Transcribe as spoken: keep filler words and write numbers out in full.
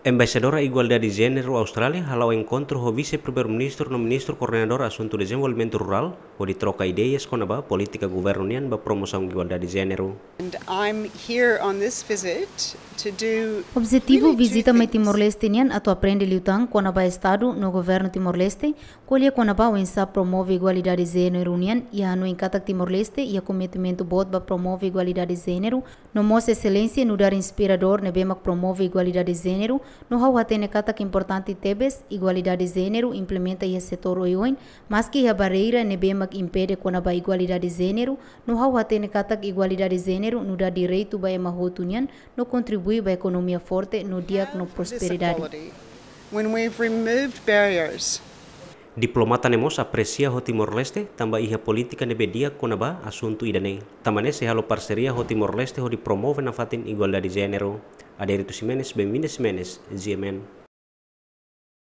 Embaixadora Igualdade Jéneru Austrália hala'o enkontru ho Vise-Primeiru-Ministru no Ministru Koordenadór Asuntu Dezenvolvimentu Rurál, hodi troka ideias kona-ba polítika governu nian ba promosaun igualdade jéneru. And I'm here on this visit to do Objetivu really two vizita mai things. Timor-Leste nian atu aprende liután kona-ba Estadu no Governu Timor-Leste, ko'alia kona-ba oinsá promove igualdade jéneru nian, i hanoin katak Timor-Leste iha kometimentu boot ba promove igualdade jéneru, no mós eselénsia nu'udar inspiradór ne'ebé mak promove igualdade jéneru, no ha'u hatene katak importante tebes igualdade jéneru implementa iha setór oioin, maski iha barreira ne'ebé mak impede kona-ba igualdade jéneru, no ha'u hatene katak igualdade jéneru nu'udar direitu ba ema hotu nian, no kontribui ba ekonomia forte no di'ak no This prosperidade. equality. When we've removed barriers, Diplomata ne'e mós apresia ho Timor-Leste tanba iha polítika ne'ebé di'ak kona-ba asuntu ida-ne'e. Tanba ne'e sei halo parseria ho Timor-Leste hodi promove nafatin igualdade jéneru. Adérito Ximenes, Benvinda Ximenes, G M N.